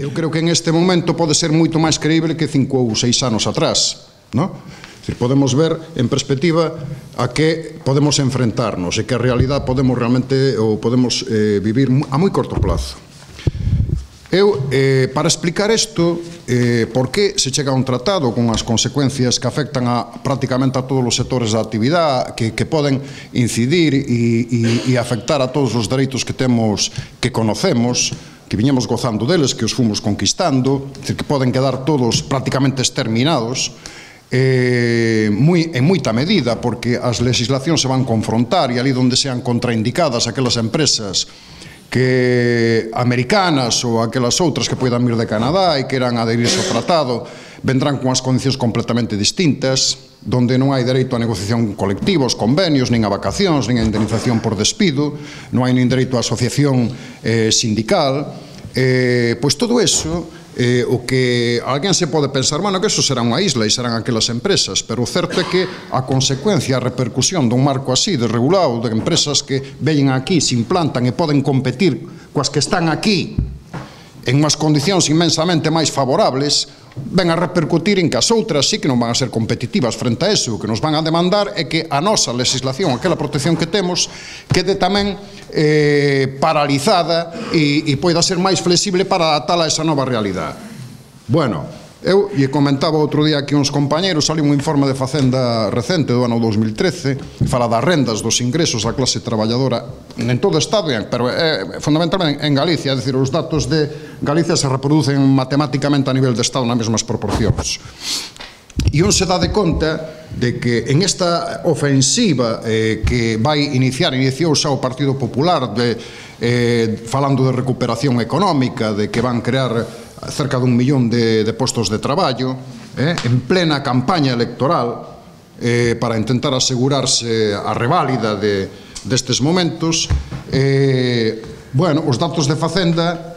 Eu creo que en este momento pode ser moito máis creíble que 5 ou 6 anos atrás, non? Podemos ver en perspectiva a que podemos enfrentarnos e que a realidade podemos realmente ou podemos vivir a moi corto plazo. Eu, para explicar isto, por que se chega a un tratado con as consecuencias que afectan a prácticamente a todos os sectores da actividade, que poden incidir e afectar a todos os dereitos que temos, que conocemos, que viñemos gozando deles, que os fomos conquistando, que poden quedar todos prácticamente exterminados, en moita medida, porque as legislacións se van confrontar e ali onde sean contraindicadas aquelas empresas que americanas ou aquelas outras que poidan vir de Canadá e queran adherirse ao tratado, vendrán con as condicións completamente distintas, donde non hai dereito a negociación colectiva, os convenios, nin a vacacións, nin a indemnización por despido, non hai nin dereito a asociación sindical, pois todo eso, o que alguén se pode pensar, bueno, que eso será unha isla e serán aquelas empresas, pero o certo é que a consecuencia, a repercusión dun marco así, desregulado, de empresas que veñen aquí, se implantan e poden competir coas que están aquí en unhas condicións inmensamente máis favorables, ven a repercutir en que as outras sí que non van a ser competitivas frente a eso. O que nos van a demandar é que a nosa legislación, aquela protección que temos, quede tamén paralizada e poida ser máis flexible para adaptala a esa nova realidade. Bueno, eu lle comentaba outro día aquí uns compañeros, saliu un informe de Facenda recente do ano 2013, fala das rendas, dos ingresos da clase traballadora en todo o Estado, pero fundamentalmente en Galicia, é dicir, os datos de Galicia se reproducen matemáticamente a nivel de Estado nas mesmas proporcións. E un se dá de conta de que en esta ofensiva que iniciou xa o Partido Popular, falando de recuperación económica, de que van crear cerca de 1 millón de postos de traballo, en plena campaña electoral, para intentar asegurarse a reválida destes momentos, bueno, os datos de Facenda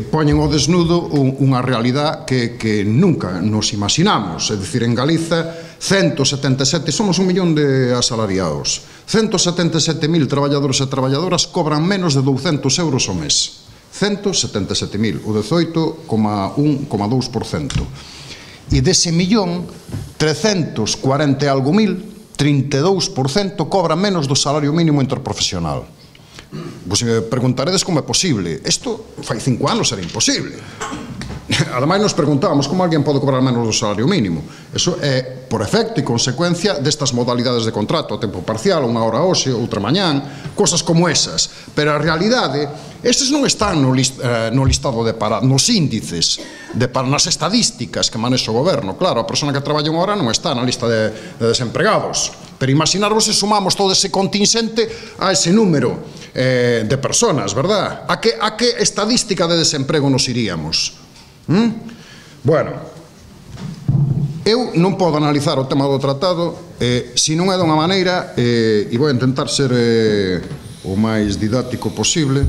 poñen ao desnudo unha realidade que nunca nos imaginamos. É dicir, en Galiza, 177, somos 1 millón de asalariados, 177.000 traballadores e traballadoras cobran menos de 200 euros ao mes. 177.000, o 18,1,2%. E dese millón, 340 e algo mil, 32% cobran menos do salario mínimo interprofesional. Vos me preguntaredes como é posible. Isto fai 5 anos era imposible. Ademais nos preguntábamos como alguén pode cobrar menos do salario mínimo. Eso é por efecto e consecuencia destas modalidades de contrato, a tempo parcial, unha hora hoxe, outra mañán, cosas como esas. Pero a realidade, estes non están no listado de parados, nos índices, nas estadísticas que manexa o goberno. Claro, a persona que traballa unha hora non está na lista de desempregados. Pero imaginarvos se sumamos todo ese contingente a ese número de personas, verdad? A que estadística de desemprego nos iríamos? Bueno, eu non podo analizar o tema do tratado se non é dunha maneira, e vou intentar ser o máis didáctico posible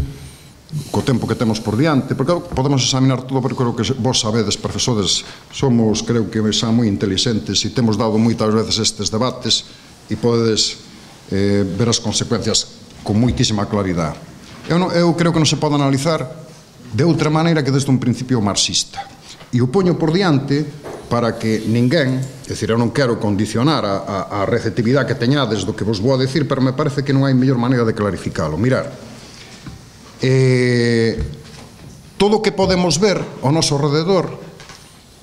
co tempo que temos por diante, porque podemos examinar todo, porque creo que vos sabedes, profesores, somos, creo que xa moi inteligentes e temos dado moitas veces estes debates e podedes ver as consecuencias con moitísima claridade. Eu creo que non se pode analizar de outra maneira que desde un principio marxista. E o poño por diante para que ninguén, é dicir, eu non quero condicionar a receptividade que teñades do que vos vou a decir, pero me parece que non hai mellor maneira de clarificalo. Mirar, todo o que podemos ver ao noso rededor,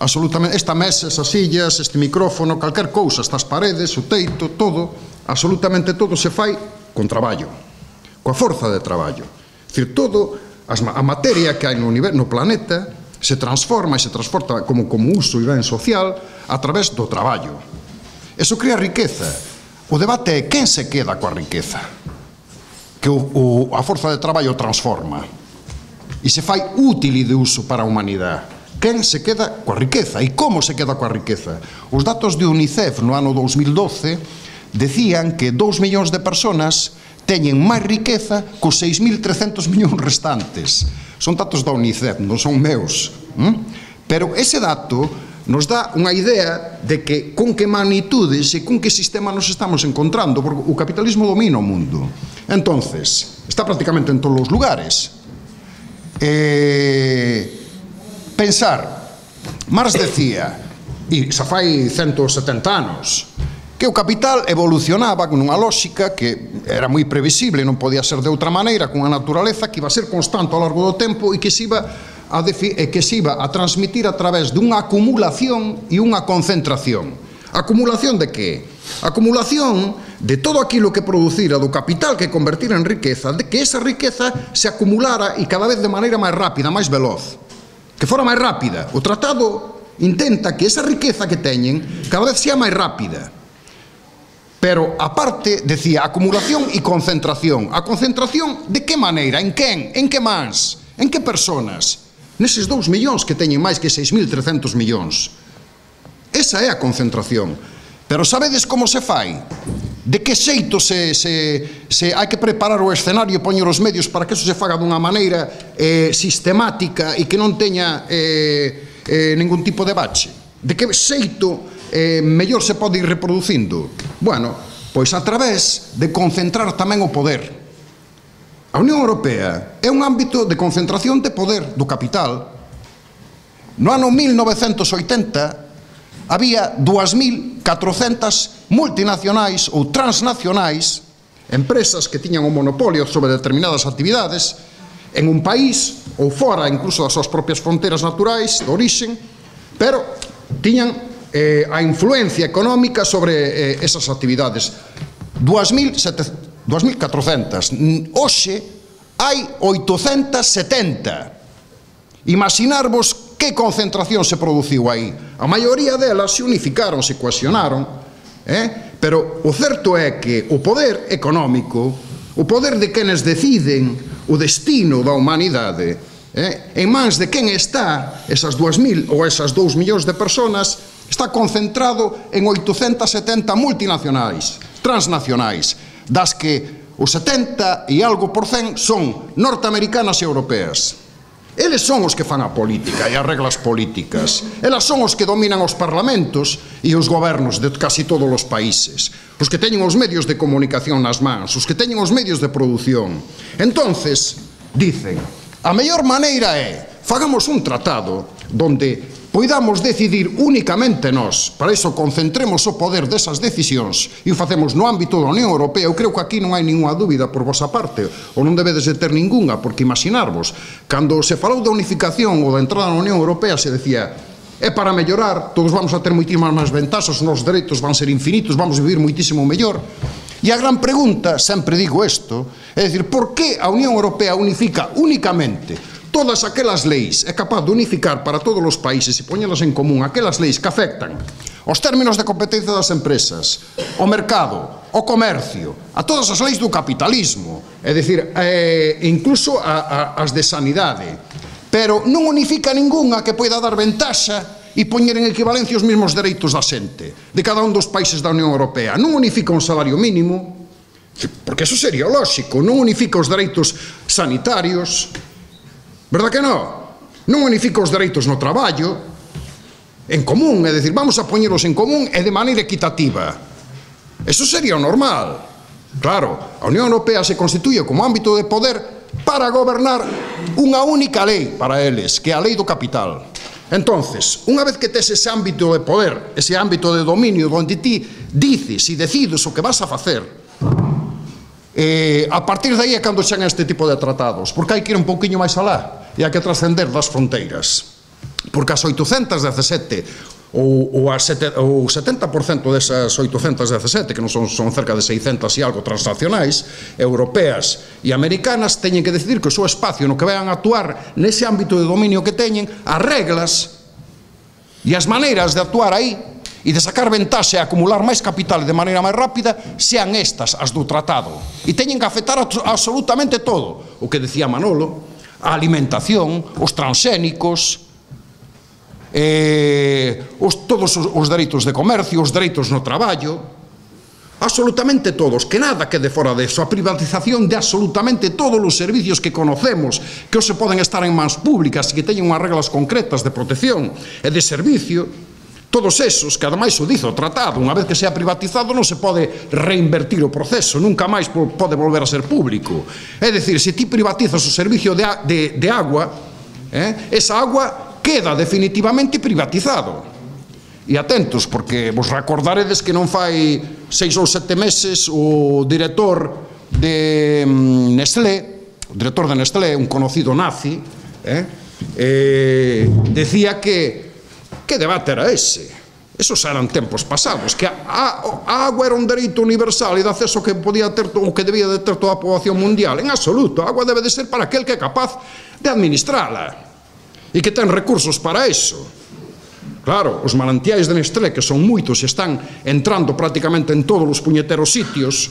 absolutamente, esta mesa, esas sillas, este micrófono, calquer cousa, estas paredes, o teito, todo, absolutamente todo se fai con traballo, coa forza de traballo. É dicir, todo a materia que hai no planeta se transforma e se transporta como uso e ben social a través do traballo. Eso crea riqueza. O debate é quen se queda coa riqueza que a forza de traballo transforma e se fai útil e de uso para a humanidade. Quen se queda coa riqueza e como se queda coa riqueza. Os datos de UNICEF no ano 2012 decían que 2 millóns de personas teñen máis riqueza cos 6.300 millóns restantes. Son datos da UNICEF, non son meus. Pero ese dato nos dá unha idea de que con que magnitudes e con que sistema nos estamos encontrando, porque o capitalismo domina o mundo. Entonces, está prácticamente en todos os lugares. Pensar, Marx decía, e xa fai 170 anos, que o capital evolucionaba con unha lógica que era moi previsible, non podía ser de outra maneira, con a naturaleza que iba a ser constante ao largo do tempo e que se iba a transmitir a través dunha acumulación e unha concentración. Acumulación de que? Acumulación de todo aquilo que producira do capital que convertira en riqueza, de que esa riqueza se acumulara e cada vez de maneira máis rápida, máis veloz, que fora máis rápida. O tratado intenta que esa riqueza que teñen cada vez sea máis rápida. Pero, aparte, decía, acumulación e concentración. A concentración, de que maneira? En quen? En que mans? En que personas? Neses 2 millóns que teñen máis que 6.300 millóns. Esa é a concentración. Pero sabedes como se fai? De que xeito hai que preparar o escenario e poñer os medios para que eso se faga dunha maneira sistemática e que non teña ningún tipo de bache? De que xeito mellor se pode ir reproducindo? Bueno, pois a través de concentrar tamén o poder. A Unión Europea é un ámbito de concentración de poder do capital. No ano 1980 había 2.400 multinacionais ou transnacionais, empresas que tiñan un monopolio sobre determinadas actividades en un país ou fora incluso das súas propias fronteiras naturais de orixen, pero tiñan a influencia económica sobre esas actividades. 2.400. Hoxe hai 870. Imaginarvos que concentración se produciu aí. A maioría delas se unificaron, se cohesionaron, pero o certo é que o poder económico, o poder de quenes deciden o destino da humanidade, en mans de quen está esas 2.000 ou esas 2 millóns de personas, está concentrado en 870 multinacionais, transnacionais, das que o 70 e algo por cen son norteamericanas e europeas. Eles son os que fan a política e as reglas políticas. Elas son os que dominan os parlamentos e os gobernos de casi todos os países. Os que teñen os medios de comunicación nas mans, os que teñen os medios de produción. Entonces, dicen, a mellor maneira é, fagamos un tratado donde poidamos decidir únicamente nós, para iso concentremos o poder desas decisións e o facemos no ámbito da Unión Europea. Eu creo que aquí non hai ninguna dúbida por vosa parte, ou non debedes de ter ningunha, porque imaginarvos, cando se falou da unificación ou da entrada na Unión Europea se decía, é para mellorar, todos vamos a ter moitísimas máis ventaxas, os nosos dereitos van ser infinitos, vamos a vivir moitísimo mellor. E a gran pregunta, sempre digo isto, é dicir, por que a Unión Europea unifica únicamente todas aquelas leis, é capaz de unificar para todos os países e poñelas en común aquelas leis que afectan os términos de competencia das empresas, o mercado, o comercio, a todas as leis do capitalismo, é dicir, incluso as de sanidade, pero non unifica ningunha que poida dar ventaxa e poñer en equivalencia os mesmos dereitos da xente de cada un dos países da Unión Europea. Non unifica un salario mínimo, porque eso sería lógico, non unifica os dereitos sanitarios, verdad que non? Non unifica os dereitos no traballo en común, é dicir, vamos a poñeros en común e de maneira equitativa. Eso sería o normal. Claro, a Unión Europea se constituye como ámbito de poder para gobernar unha única lei para eles, que é a lei do capital. Entonces, unha vez que tes ese ámbito de poder, ese ámbito de dominio onde ti dices e decides o que vas a facer, a partir de aí é cando chegan este tipo de tratados, porque hai que ir un pouquiño máis alá e hai que trascender das fronteiras, porque as 817 ou o 70% desas 817, que non son cerca de 600 e algo transnacionais, europeas e americanas, teñen que decidir que o seu espacio no que vayan a actuar nese ámbito de dominio que teñen, as reglas e as maneiras de actuar aí e de sacar ventaxe e acumular máis capital de maneira máis rápida sean estas as do tratado, e teñen que afectar absolutamente todo o que decía Manolo, a alimentación, os transxénicos, todos os dereitos de comercio, os dereitos no traballo, absolutamente todos, que nada quede fora deso, a privatización de absolutamente todos os servicios que conocemos, que hoxe poden estar en mans públicas e que teñen unhas reglas concretas de protección e de servicio. Todos esos, que ademais o dice o tratado, unha vez que sea privatizado non se pode reinvertir o proceso, nunca máis pode volver a ser público. É dicir, se ti privatizas o servicio de agua, esa agua queda definitivamente privatizado. E atentos, porque vos recordaredes que non fai 6 ou 7 meses o director de Nestlé, un conocido nazi, decía que debate era ese. Esos eran tempos pasados, que a agua era un dereito universal e de acceso que podía ter o que debía de ter toda a poboación mundial. En absoluto, a agua debe de ser para aquel que é capaz de administrala e que ten recursos para eso. Claro, os manantiais de Nestlé, que son moitos e están entrando prácticamente en todos os puñeteros sitios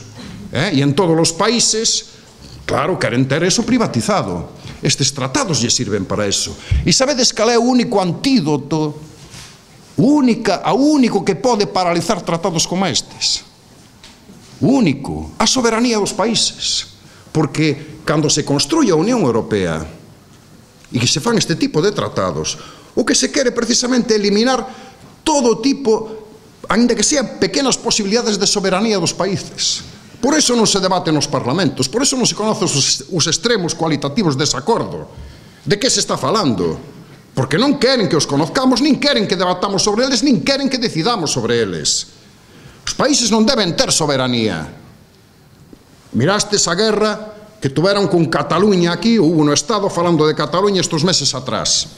e en todos os países, claro, queren ter eso privatizado. Estes tratados lle sirven para eso. E sabedes cal é o único antídoto, o único que pode paralizar tratados como estes? O único, a soberanía dos países. Porque cando se construye a Unión Europea e que se fan este tipo de tratados, o que se quere precisamente eliminar todo tipo, ainda que sean pequenas posibilidades de soberanía dos países. Por eso non se debate nos parlamentos, por eso non se conocen os extremos cualitativos dese acordo. De que se está falando? Porque non queren que os conozcamos, nin queren que debatamos sobre eles, nin queren que decidamos sobre eles. Os países non deben ter soberanía. Mirastes a guerra que tuveron con Cataluña aquí, hubo no Estado falando de Cataluña estes meses atrás.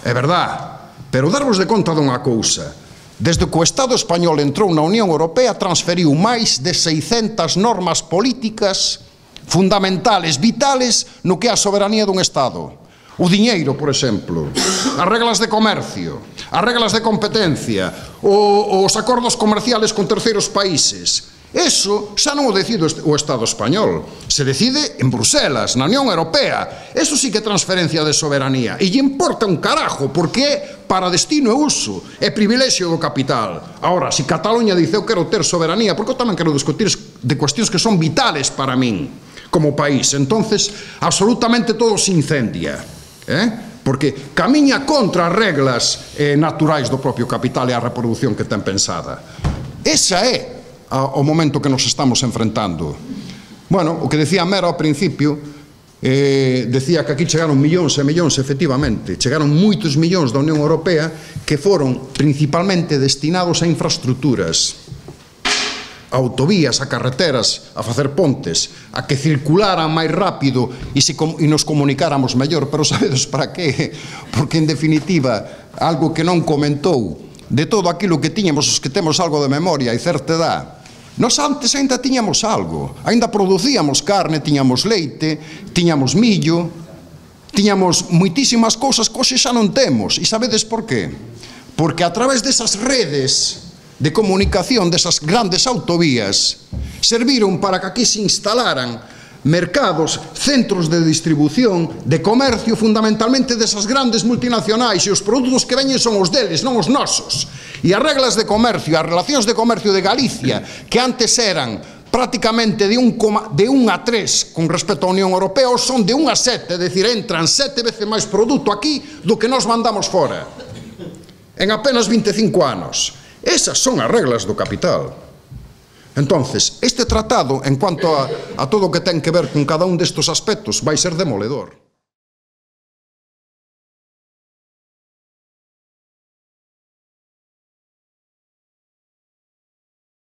É verdad, pero darvos de conta dunha cousa. Desde que o Estado español entrou na Unión Europea, transferiu máis de 600 normas políticas fundamentales, vitales, no que é a soberanía dun Estado. O diñeiro, por exemplo, as reglas de comercio, as reglas de competencia, os acordos comerciales con terceiros países. Eso xa non o decide o Estado español, se decide en Bruselas, na Unión Europea. Eso sí que é transferencia de soberanía, e lle importa un carajo, porque é para destino e uso, é privilexio do capital. Ahora, se Cataluña dice eu quero ter soberanía, porque eu tamén quero discutir de cuestións que son vitales para min, como país, entonces absolutamente todo se incendia, porque camiña contra as reglas naturais do propio capital e a reproducción que ten pensada. Esa é o momento que nos estamos enfrentando. Bueno, o que decía Mera ao principio, decía que aquí chegaron millóns e millóns, efectivamente, chegaron moitos millóns da Unión Europea que foron principalmente destinados a infraestructuras, a autovías, a carreteras, a facer pontes, a que circularan máis rápido e nos comunicáramos mellor. Pero sabedes para qué? Porque, en definitiva, algo que non comentou, de todo aquilo que tiñamos, os que temos algo de memoria e certa edad, nós antes ainda tiñamos algo, ainda producíamos carne, tiñamos leite, tiñamos millo, tiñamos moitísimas cousas que hoxe xa non temos. E sabedes por qué? Porque a través desas redes de comunicación, desas grandes autovías, serviron para que aquí se instalaran mercados, centros de distribución, de comercio, fundamentalmente desas grandes multinacionais, e os produtos que veñen son os deles, non os nosos. E as reglas de comercio, as relacións de comercio de Galicia, que antes eran prácticamente de 1 a 3 con respecto á Unión Europea, son de 1 a 7, é dicir, entran 7 veces máis produto aquí do que nós mandamos fora, en apenas 25 anos. Esas son as reglas do capital. Entonces, este tratado, en cuanto a todo o que ten que ver con cada un destes aspectos, vai ser demoledor.